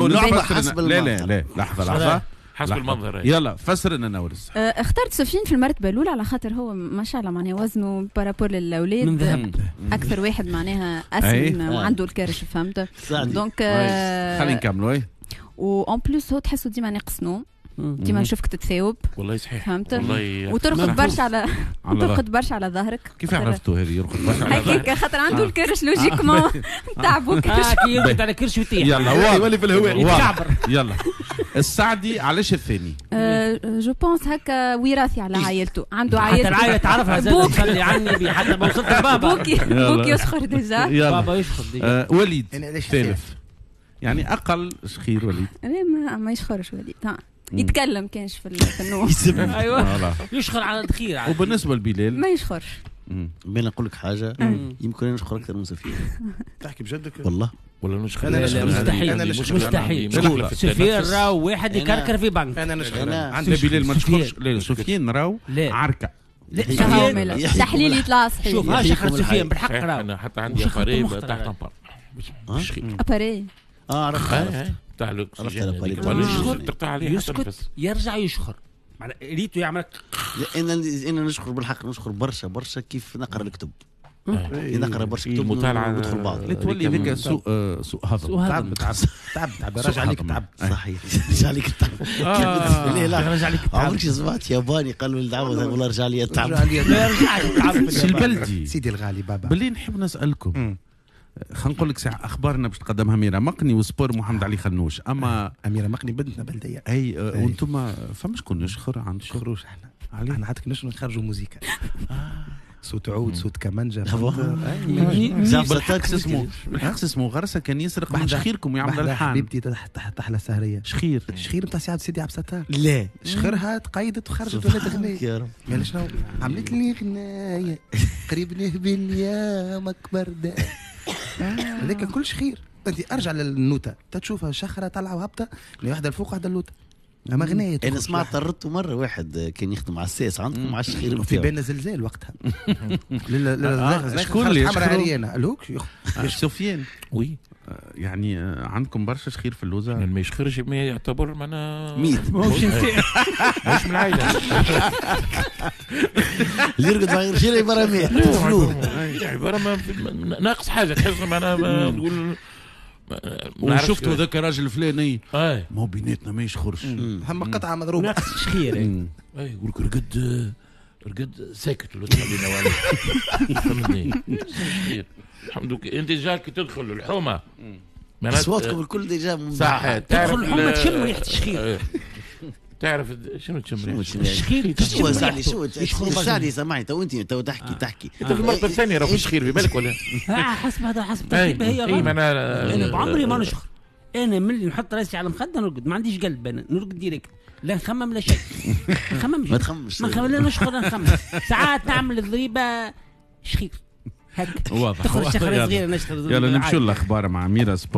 لعبة حسب لا لا المنظر. لا، لحظة لحظه، حسب لحظة. المنظر. يلا فسر لنا نورس. اخترت سفيان في المرتبة الاولى على خاطر هو ما شاء الله معناها وزنه par rapport للاولاد من ذهب. اكثر واحد معناها أي. اسمن وعنده الكرش، فهمت؟ سعدي. donc خلينا نكملوا اي. و en plus هو تحسه ديما ناقص نوم، ديما نشوفك تتثاوب. والله صحيح. فهمت؟ والله. وترقد برشا على على ترقد برشا على ظهرك. كيف عرفتوا هذه يرقد برشا على ظهرك؟ هكاك خاطر عنده الكرش، logiquement تعبو كرش. كي يرقد على كرش ويطيح. يلا واضح. يولي في الهواء. واضح. يتكعبر. يلا السعدي علاش الثاني؟ je pense هكا وراثي على عائلته، عنده حتى عائلته. العائلة تعرفها زاد. بوك. تصلي على النبي حتى ما وصلت لبابا. بوك يسخر déjà. يلا. بابا يشخر déjà. وليد. أنا علاش ثالث، يعني اقل شخير وليد. لا ما يشخرش وليد، ها يتكلم كانش في النوم. ايوه. voilà. يشخر على الخير. وبالنسبة لبلال؟ ما يشخرش. بين نقول لك حاجه، يمكن انا نشخر اكثر من سفيان. تحكي بجدك؟ والله. ولا نشخر. أنا لا، نشخر. مستحيل. أنا نشخر. مستحيل. مشكلة في سفيان التنفس. راهو واحد يكركر في بنك. انا نشخر. أنا- عندي لا بلال ما سفيان. تشخرش، لا سفيان راهو لا. عركه. لا هاو سفيان. مالا. يحييكم تحليل الحي. يطلع صحيح. شوف ها يحييكم شخر الحي. سفيان بالحق صحيح، راهو. انا حتى عندي وشخرته appareil مختلف. تاع طمبار شخير. appareil. اه عرفت عرفت. تاع الاكسجين عرفت هذيك. ال appareil. ولا يشخر تقطع عليه حتى يسكت النفس. يرجع يشخر، معناها ريتو يعمل. لا، انا نشخر بالحق، نشخر برشا برشا كيف نقرا الكتب، كي نقرا برشا كتب المطالعة. ندخل بعض. لا تولي ذيك سوء سوء هضم. سوء هضم. تعب تعب تعب تعب، راجع عليك تعب. صحيح، رجع عليك التعب. لا لا. رجع عليك التعب. عمرك سمعت ياباني قالوا للدعوة والله رجع لي التعب؟ رجع عليا. لا يرجع التعب. سي البلدي. سيدي الغالي بابا. باللي نحب نسالكم، خلينا نقول لك ساعة اخبارنا باش تقدمها ميرا مقني و sport محمد علي خنوش، اما اميره مقني بنتنا بلديه. اي وانتم فما شكون يشخر عند شخر؟ خروج احنا. علي. احنا حتى كناش نخرجوا موزيكا، صوت عود، صوت كمانجا. بالحق اسمه، بالحق اسمه غرسه كان يسرق من شخيركم ويعمل بحذا الحان. حبيبتي تحلى السهريه. شخير. شخير نتاع سيدي عبد الستار. لا. شخرها تقيدت وخرجت ولات غنية. يا رب. قال شنو عملت لي غناية قريب نهبل يا مكبر ده، هذاك كل شخير. انت ارجع للنوتة تشوفها شخرة طالعة وهابطة، واحدة الفوق واحدة اللوتة، اما غناية انا سمعت طردته مرة واحد كان يخدم على الساس عندكم على الشخير في نتاعو. بالنا زلزال وقتها. شكون اللي حمراء يشخروا؟ عريانة الهوك. سفيان. oui. يعني عندكم برشا شخير في اللوزه؟ ما يشخرش ما يعتبر معناها ميت. ماهوش من العائله. اللي يرقد مع غير شيء عبارة ميت. عبارة ناقص حاجه، تحس معناها تقول وشفتوا ذاك الراجل الفلاني اي. ما هو بيناتنا ما يشخرش. هم قطعة مضروبة. ناقص شخير. اي، يقول لك رقد رقد ساكت ولا تخلينا ولا فهمتني. الحمد لله انت déjà كي تدخل الحومه اصواتكم الكل déjà. صح. تدخل الحومه تشم ريحه الشخير. تعرف شنو تشم ريحه الشخير؟ شو سعدي شو سعدي سامعني تو، انت تو تحكي. انت في المرتبة الثانية راه في شخير في بالك ولا؟ حسب هذا حسب ترتيبها هي. اي معناها انا بعمري ما نشخر، انا من اللي نحط راسي على المخدة نرقد، ما عنديش قلب، انا نرقد direct، لا نخمم لا شيء. نخممش. ما تخممش. ما نخمم، لا نشخر لا نخمم. ساعات نعمل الضريبة شخير هكا. واضح. تخرج شخره صغيره، نشخر. يلا نمشوا للاخبار مع ميرا sport.